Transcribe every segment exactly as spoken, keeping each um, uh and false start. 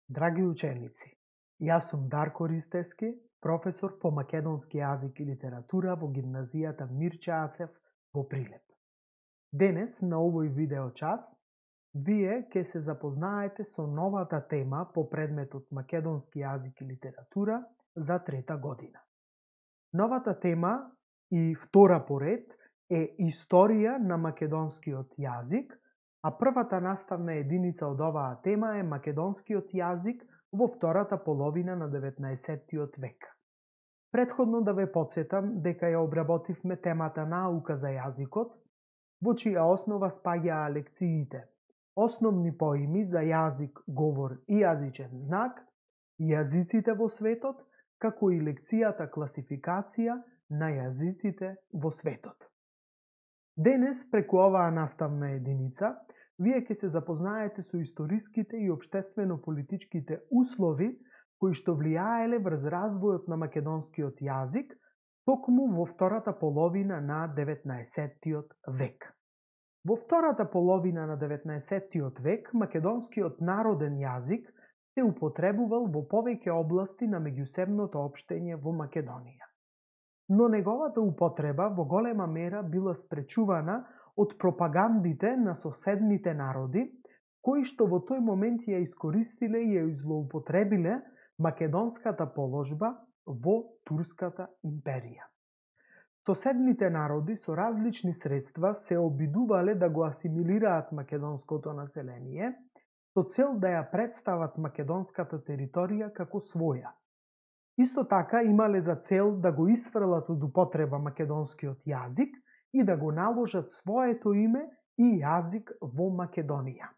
Драги ученици, јас сум Дарко Ристевски, професор по македонски јазик и литература во гимназијата Мирче Ацев во Прилеп. Денес, на овој видео час, вие ќе се запознаете со новата тема по предметот македонски јазик и литература за трета година. Новата тема и втора поред е Историја на македонскиот јазик, а првата наставна единица од оваа тема е македонскиот јазик во втората половина на деветнаесеттиот век. Претходно да ве потсетам дека ја обработивме темата наука за јазикот, во чија основа спаѓаа лекциите основни поими за јазик, говор и јазичен знак, јазиците во светот, како и лекцијата класификација на јазиците во светот. Денес, преку оваа наставна единица, вие ќе се запознаете со историските и општествено-политичките услови кои што влијаеле врз развојот на македонскиот јазик токму во втората половина на деветнаесеттиот век. Во втората половина на деветнаесеттиот век македонскиот народен јазик се употребувал во повеќе области на меѓусебното општење во Македонија. Но неговата употреба во голема мера била спречувана од пропагандите на соседните народи, кои што во тој момент ја искористиле и ја злоупотребиле македонската положба во Турската империја. Соседните народи со различни средства се обидувале да го асимилираат македонското население, со цел да ја представат македонската територија како своја. Исто така имале за цел да го исфрлат од употреба македонскиот јазик и да го наложат своето име и јазик во Македонија.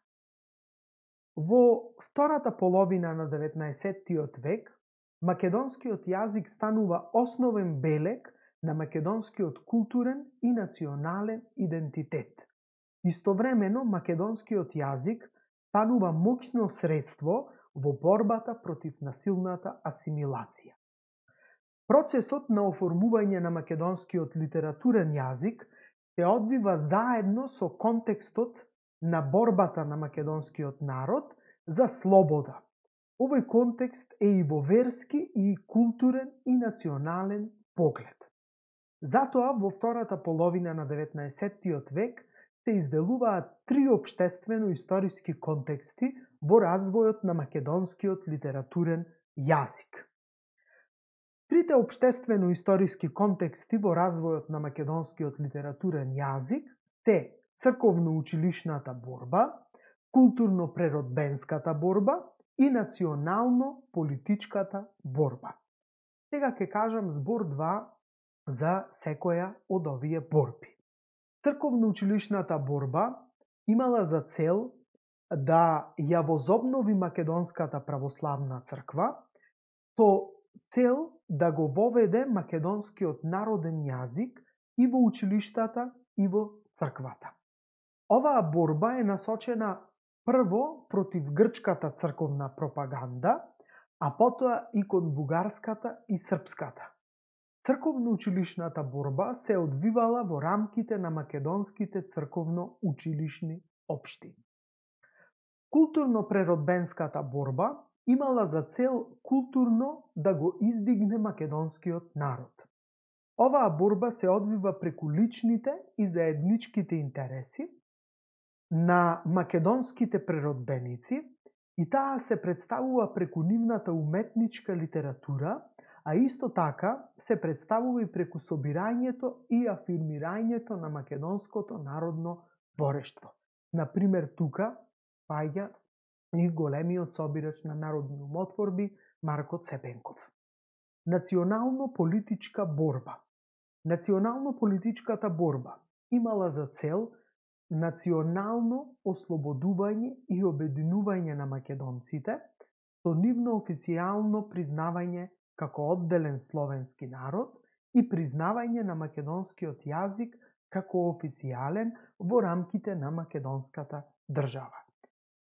Во втората половина на деветнаесеттиот век, македонскиот јазик станува основен белег на македонскиот културен и национален идентитет. Истовремено, македонскиот јазик станува моќно средство во борбата против насилната асимилација. Процесот на оформување на македонскиот литературен јазик се одвива заедно со контекстот на борбата на македонскиот народ за слобода. Овој контекст е и во верски, и културен, и национален поглед. Затоа, во втората половина на деветнаесеттиот век се изделуваат три општествено-историски контексти во развојот на македонскиот литературен јазик. Трите општествено-историски контексти во развојот на македонскиот литературен јазик се црковно-училишната борба, културно-преродбенската борба и национално-политичката борба. Сега ќе кажам збор-два за секоја од овие борби. Црковно-училишната борба имала за цел да ја возобнови македонската православна црква со цел да го воведе македонскиот народен јазик и во училиштата и во црквата. Оваа борба е насочена прво против грчката црковна пропаганда, а потоа и кон бугарската и српската. Црковно-училишната борба се одвивала во рамките на македонските црковно-училишни општини. Културно-преродбенската борба имала за цел културно да го издигне македонскиот народ. Оваа борба се одвива преку личните и заедничките интереси на македонските преродбеници и таа се представува преку нивната уметничка литература, а исто така се представува и преку собирањето и афирмирањето на македонското народно творештво. Например, тука паѓа и големиот собирач на народни умотворби Марко Цепенков. Национално-политичка борба. Национално-политичката борба имала за цел национално ослободување и обединување на македонците со нивно официјално признавање како одделен словенски народ и признавање на македонскиот јазик како официјален во рамките на македонската држава.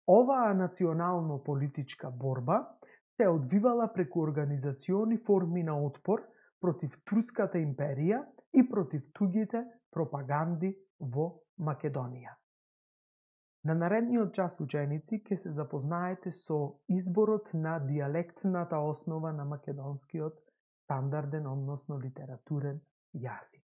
Оваа национално-политичка борба се одвивала преку организациони форми на отпор против Турската империја и против туѓите пропаганди во Македонија. На наредниот час, ученици, ќе се запознаете со изборот на дијалектната основа на македонскиот стандарден, односно литературен јазик.